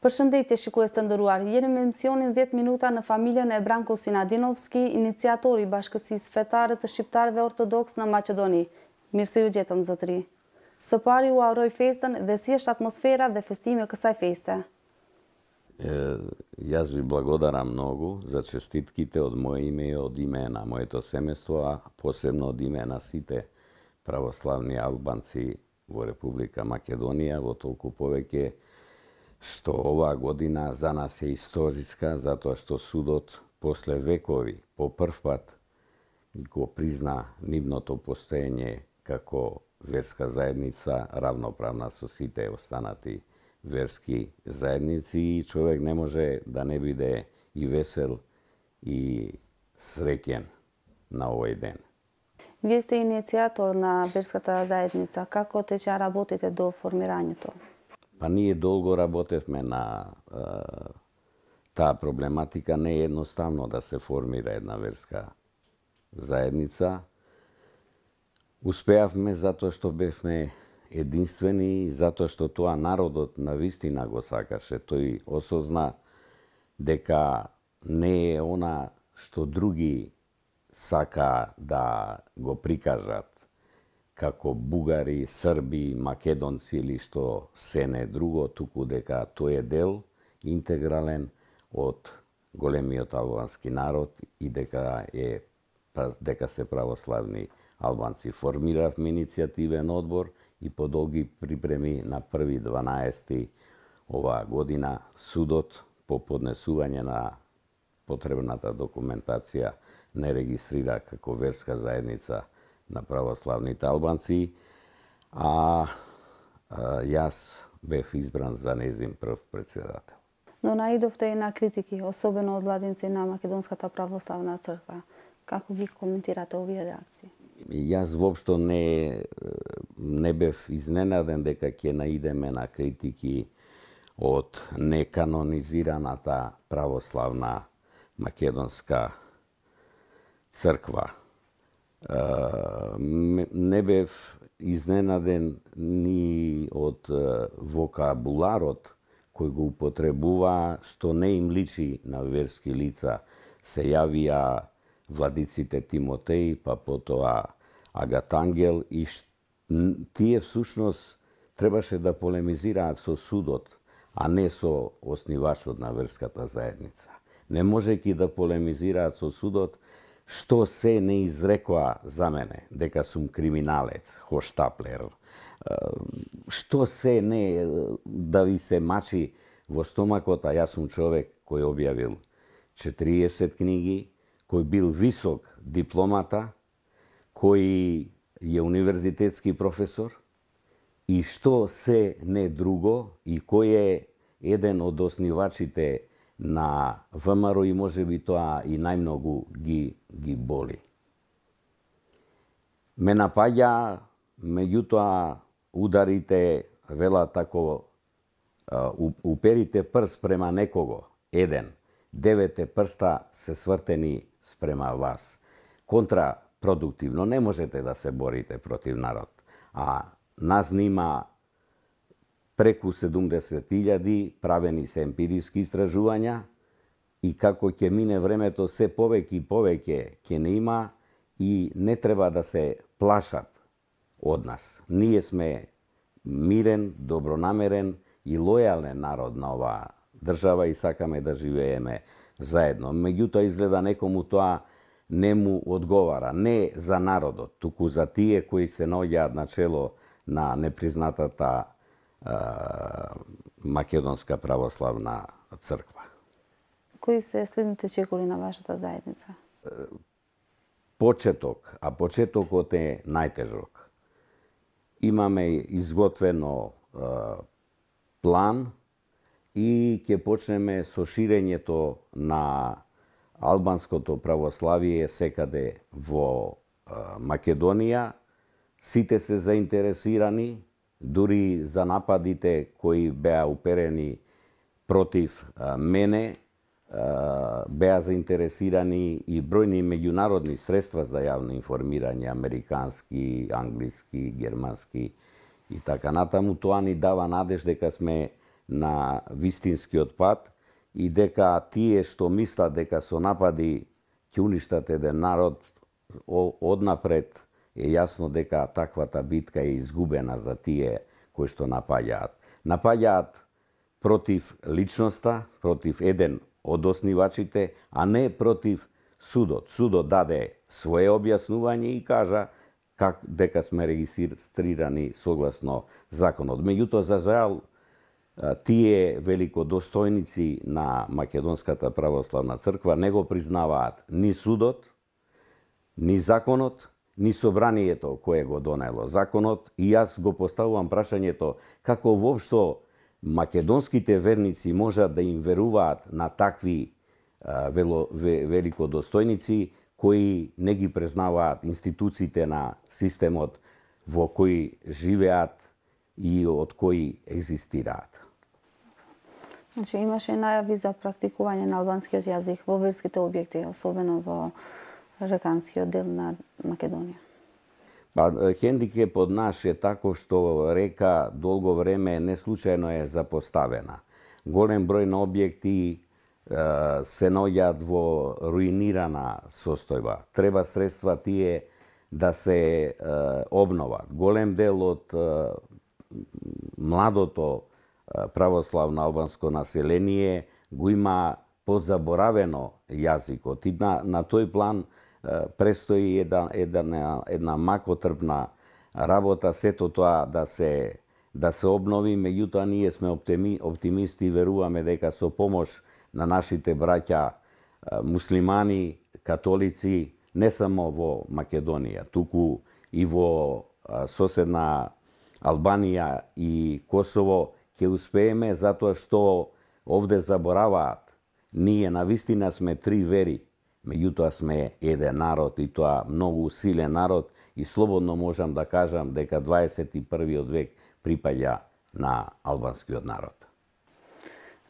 Përshëndetje shikues të nderuar, jeni me emisionin 10 minuta në familjen e Branko Sinadinovski, iniciatori i Bashkësisë Fetare të Shqiptarëve Ortodoks në Maqedoni. Mirë se ju gjetëm, zotëri. Së pari u uroj festën dhe si është atmosfera dhe festimi kësaj feste. Јас ви благодарам многу за честитките од моје име и од име на моето семејство, а посебно од име на сите православни албанци во Република Македонија, во толку повеќе што оваа година за нас е историска, затоа што судот после векови по прв пат го призна нивното постоење како верска заедница, равноправна со сите останати верски заедници, и човек не може да не биде и весел и среќен на овој ден. Вие сте иницијатор на верската заедница. Како тече работите до формирањето? Па ние долго работевме на таа проблематика. Не е едноставно да се формира една верска заедница. Успеавме затоа што бевме единствени, затоа што тоа народот навистина го сакаше. Тој осозна дека не е она што други сака да го прикажат како бугари, срби, македонци или што се не друго, туку дека тој е дел интегрален од големиот албански народ и дека се православни албанци. Формиравме иницијативен одбор и по долги припреми на 1.12. оваа година судот по поднесување на потребната документација не регистрира како верска заедница на православните албанци, а јас бев избран за нејзин прв председател. Но наидовте и на критики, особено од владинци на Македонската православна црква. Како ги коментирате овие реакции? Јас воопшто не бев изненаден дека ќе наидеме на критики од неканонизираната православна македонска црква. Не бев изненаден ни од вокабуларот кој го употребува, што не им личи на верски лица. Се јавија владиците Тимотеј, па потоа Агатангел, и тие всушност требаше да полемизираат со судот, а не со основачот на верската заедница. Не можејќи да полемизираат со судот, што се не изрекоа за мене, дека сум криминалец, хоштаплер, што се не да ви се мачи во стомакот, а јас сум човек кој објавил 40 книги, кој бил висок дипломата, кој е универзитетски професор, и што се не друго, и кој е еден од основачите на ВМРО, и може би тоа и најмногу ги боли. Ме напаѓа, меѓутоа ударите, велат тако, уперите прст према некого, еден, 9 прста се свртени спрема вас. Контрапродуктивно, не можете да се борите против народ. А нас нима преку 70.000 правени се емпириски истражувања, и како ќе мине времето, се повеќе и повеќе ќе не има, и не треба да се плашат од нас. Ние сме мирен, добронамерен и лојален народ на оваа држава и сакаме да живееме заедно. Меѓутоа, изгледа некому тоа не му одговара. Не за народот, туку за тие кои се наоѓаат на чело на непризнатата Македонска православна црква. Кои се следните чекори на вашата заедница? Почеток, а почетокот е најтежок. Имаме изготвено план и ќе почнеме со ширењето на албанското православие секаде во Македонија. Сите се заинтересирани, дури за нападите кои беа уперени против мене, беа заинтересирани и бројни меѓународни средства за јавно информирање, американски, англиски, германски и така натаму. Тоа ни дава надеж дека сме на вистинскиот пат и дека тие што мислат дека со напади ќе уништат еден народ, однапред е јасно дека таквата битка е изгубена за тие кои што напаѓаат. Напаѓаат против личноста, против еден од основачите, а не против судот. Судот даде свое објаснување и кажа дека сме регистрирани согласно законот. Меѓутоа, за жал, тие великодостојници на Македонската православна црква не го признаваат ни судот, ни законот, ни собранието кое го донело законот, и јас го поставувам прашањето како воопшто македонските верници можат да им веруваат на такви великодостојници кои не ги признаваат институциите на системот во кој живеат и од кои екзистираат. Значи, имаше најави за практикување на албанскиот јазик во верските објекти, особено во реканскиот дел на Македонија. Хендикепот наш е тако што река долго време не случајно е запоставена. Голем број на објекти се наоѓаат во руинирана состојба. Треба средства тие да се обноват. Голем дел од младото православно албанско население го има подзаборавено јазикот и на тој план престои една макотрпна работа, сето тоа да се обнови, меѓутоа ние сме оптимисти и веруваме дека со помош на нашите браќа муслимани, католици, не само во Македонија, туку и во соседна Албанија и Косово, ќе успееме затоа што овде забораваат. Ние навистина сме три вери, меѓутоа сме еден народ и тоа многу силен народ и слободно можам да кажам дека 21. век припаѓа на албанскиот народ.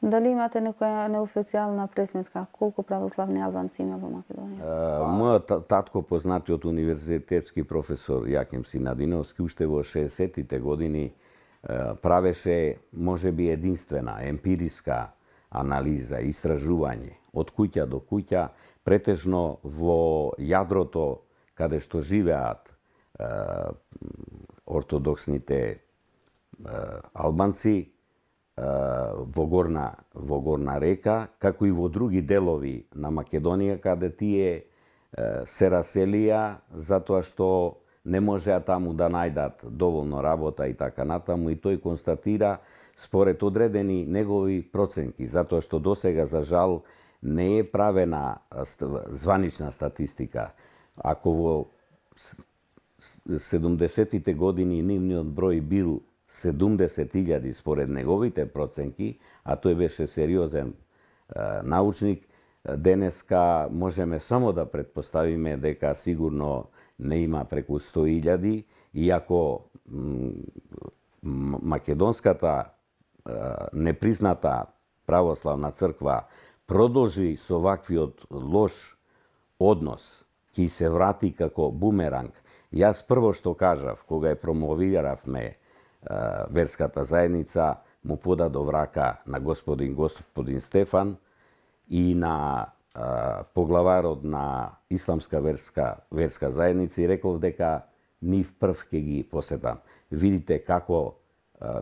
Дали имате некоја неофицијална пресметка колку православни албанци има во Македонија? Мојот татко, познатиот универзитетски професор Јаким Синадиновски, уште во 60-тите години правеше можеби единствена емпириска анализа, истражување од куќа до куќа, претежно во јадрото каде што живеат ортодоксните албанци во горна река, како и во други делови на Македонија, каде тие се раселија затоа што не можеа таму да најдат доволно работа и така натаму, и тој констатира според одредени негови проценки, затоа што досега за жал не е правена званична статистика. Ако во 70-тите години нивниот број бил 70.000 според неговите проценки, а тој беше сериозен научник, денеска можеме само да предпоставиме дека сигурно не има преку 100.000, иако македонската непризната православна црква продолжи со ваквиот лош однос, ќе се врати како бумеранг. Јас прво што кажав, кога ја промовиравме верската заедница, му подадов рака на господин Стефан и на поглаварот на Исламска верска заедница и реков дека нив прв ќе ги посетам. Видите како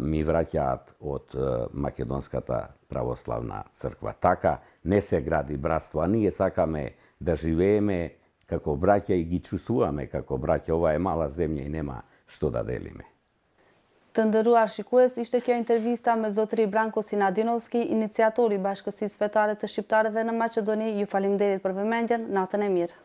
ми враќаат од Македонската православна црква. Така не се гради братство, а ние сакаме да живееме како браќа и ги чувствуваме како браќа. Ова е мала земја и нема што да делиме. Të nderuar shikues, ishte kjo intervista me zotëri Branko Sinadinovski, iniciatori bashkësisë fetare të shqiptarëve në Maqedoni. Ju faleminderit për vëmendjen, natën e mirë.